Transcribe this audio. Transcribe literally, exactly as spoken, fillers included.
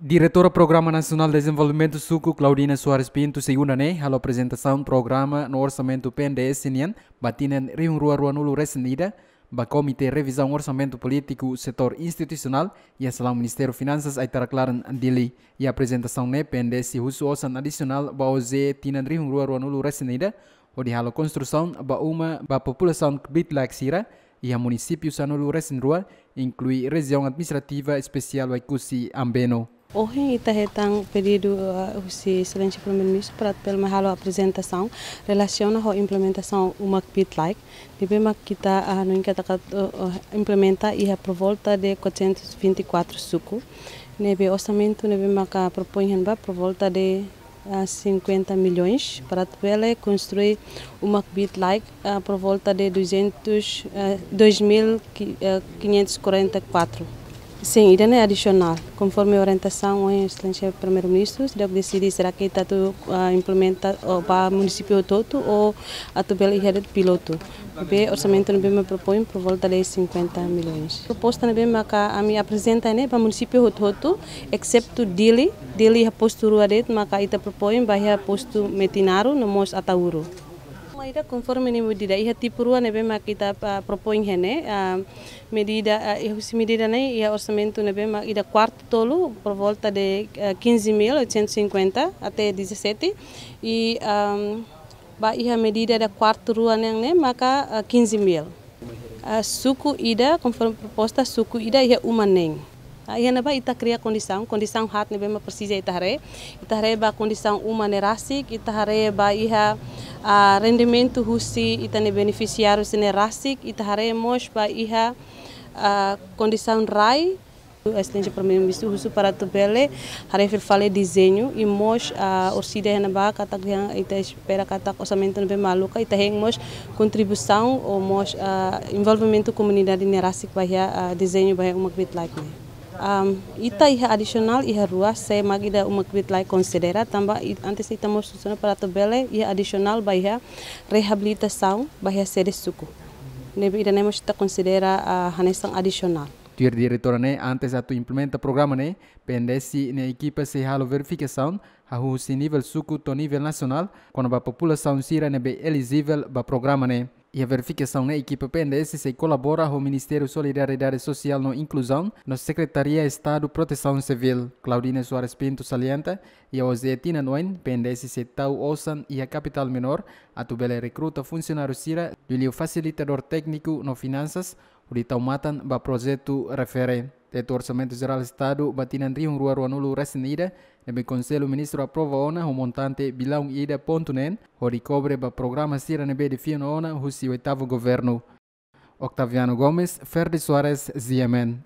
Diretora Programa Nasionál Dezenvolvimentu Suku, Claudina Soares Pinto, segunda ne'e halo aprezentasaun programa no orsamentu P N D S nian ba tinan rihun rua ruanulu resin ida ba Komité Revizaun Orsamentu Polítiku Setór Institusionál iha salaun Ministériu Finansas Aitarak Laran, Dili. Iha aprezentasaun ne'e P N D S husu osan adisionál ba O J E tinan rihun rua ruanulu resin ida hodi halo konstrusaun ba uma ba populasaun kbiit-laek sira iha munisípiu sanulu resin rua, inklui Rejiaun Administrativa Espesiál Oekusi Ambeno. Ohin ita hetan pedidu, ah, husi Exelénsia Primeiru-Ministru para atu bele mai halo aprezentasaun relasiona ho implementasaun uma kbiit-laek. Ne'ebé mak ita, ah, hanoin katak, ah, ah, implementa iha por volta de quatrocentos e vinte e quatro suku. Ne'ebé orsamentu ne'ebé maka propoin han ba por volta de, ah, cinquenta milhões para atu bele konstrui uma kbiit-laek, ah, por volta de duzentos, ah, dois mil, ah, quinhentos e quarenta e quatro. Sin, ida-ne'e adisionál. Konforme orientasaun ohin Exelénsia Primeiru-Ministru, seidauk deside será que ita atu, ah, implementa ba munisípiu hotu-hotu ou atu bele iha de'it pilotu. Ne'ebé orsamentu ne'ebé mak propoin por volta de cinquenta milhões. Proposta ne'ebé maka ami aprezenta ne'e ba munisípiu hotu-hotu, exetu Dili. Dili iha postu rua de'it maka ita propoin ba iha postu Metinaro no mós Ataúro. Maibé konforme ninia medida iha tipu rua ne'ebé mak ita, ah, propoin iha ne'e, ah, medida, ah, iha husi medida ne'e iha orsamentu ne'ebé mak ida kuartu tolu por volta de, ah, quinze mil oitocentos e cinquenta até dezassete i, ah, ba iha medida ida kuartu rua nian ne'e maka, ah, quinze mil. Ah, suku ida, konforme proposta, suku ida iha uma neen. Ah, iha ne'ebá ita kria kondisaun, kondisaun haat ne'ebé mak presiza ita haree. Ita haree ba kondisaun uma ne'e rasik, ita haree ba iha, ah, rendimentu husi ita-nia benefisiáriu sira-ne'e rasik, ita haree mós ba iha, ah, kondisaun rai. Exelénsia Primeiru-Ministru husu para atu bele haree fila fali dezeñu i mós, ah, orsida iha ne'ebá katak dehan ita espera katak orsamentu ne'ebé mak aloka, ita hein mós kontribuisaun ou mós, ah, envolvimentu komunidade ne'e rasik ba iha, ah, dezeñu ba iha uma kbiit-laek ne'e. Am, ita iha adisionál iha rua, sé mak ida uma kbiit-laek konsidera, tanba i-, antes ita mós husu ona para atu bele iha adisionál ba iha reabilitasaun ba iha sede suku. Ne'ebé ida-ne'e mós ita konsidera, ah, hanesan adisionál. Tuir diretora ne'e, antes atu implementa programa ne'e, P N D S nia ekipa sei halo verifikasaun hahú husi nivel suku to'o nivel nasionál kona-ba populasaun sira ne'ebé elijivel ba programa ne'e. Iha verifikasaun ne'e ekipa P N D S sei kolabora ho Ministériu Solidariedade Sosiál no Inkluzaun no Sekretaria Estadu Protesaun Sivíl. Claudina Soares Pinto salienta, iha O J E tinan oin, P N D S sei tau osan iha kapitál menór atu bele rekruta funsionáriu sira, liuliu fasilitadór tékniku no finansas, hodi tau matan ba projetu refere. Tetu Orsamentu Jerál Estadu ba tinan rihun rua ruanulu resin ida, ne'ebé Konsellu Ministru aprova ona ho montante bilaun ida pontu neen, hodi kobre ba programa sira ne'ebé define ona husi oitavu governu. Octaviano Gomes, Ferdi Soares, G M N.